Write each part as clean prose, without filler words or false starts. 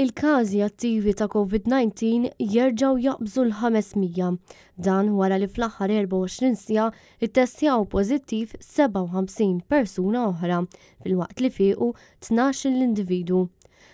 Il-każi attivi ta' Covid-19 jerġgħu jaqbżu l-500. Dan wara li fl-aħħar 24 siegħa ttestjaw pożittiv 57 persuna oħra, filwaqt li fiequ 12-il individwu.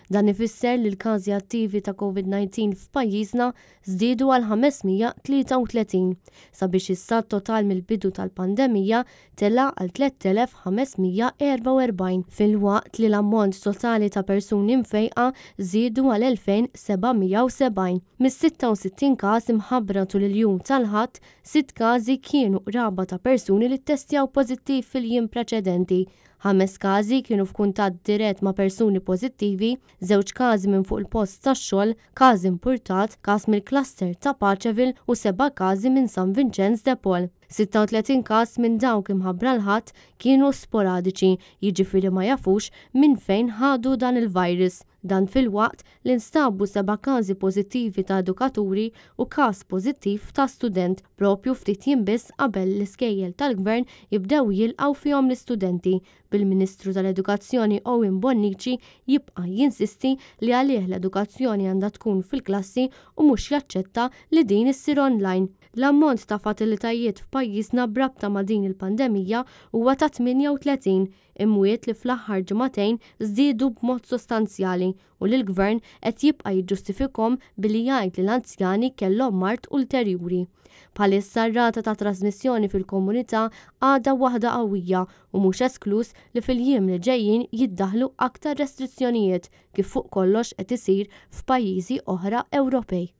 Dan ifisser li l-każi attivi ta' Covid-19 f'pajjiżna żdiedu għal 533, sabiex issa t-total mill-bidu tal-pandemija tela' għal 3,544, filwaqt li l-ammont totali ta' persuni mfejqa żiedu għal 2,770. Mis-66 każ imħabbra tul il-jum tal-Ħadd, sitt każi kienu qraba ta' persuni li ttestjaw pożittiv fil-jiem preċedenti, ħames każi kienu f'kuntatt dirett ma' persuni pożittivi, żewġ każi minn fuq il-post tax-xogħol, każ impurtat, każ mill-cluster ta' Paceville u seba' każi minn San Vinċenz de Paul. 36 każ minn dawk imħabbra l-Ħadd kienu sporadiċi, jiġifieri ma jafux minn fejn ħadu dan il-virus. Dan filwaqt li nstabu seba' każi pożittivi ta' edukaturi u każ pożittiv ta' student, proprju ftit jiem biss qabel l-iskejjel tal-Gvern jibdew jilqgħu fihom l-istudenti, bil-Ministru tal-Edukazzjoni Owen Bonnici jibqa' jinsisti li għalih l-edukazzjoni għandha tkun fil-klassi u mhux jaċċetta li din issir online. L-ammont ta' fatalitajiet f'pajjiżna b'rabta ma' din il-pandemija huwa ta' 38 imwiet li fl-aħħar ġimagħtejn żdiedu b'mod sostanzjali u li l-Gvern qed jibqa' jiġġustifikhom billi jgħid li l-anzjani kellhom mard ulterjuri. Bħalissa r-rata ta' trasmissjoni fil-komunità għadha waħda qawwija u mhux eskluż li fil-jiem li ġejjin jiddaħħlu aktar restrizzjonijiet kif fuq kollox qed isir f'pajjiżi oħra Ewropej.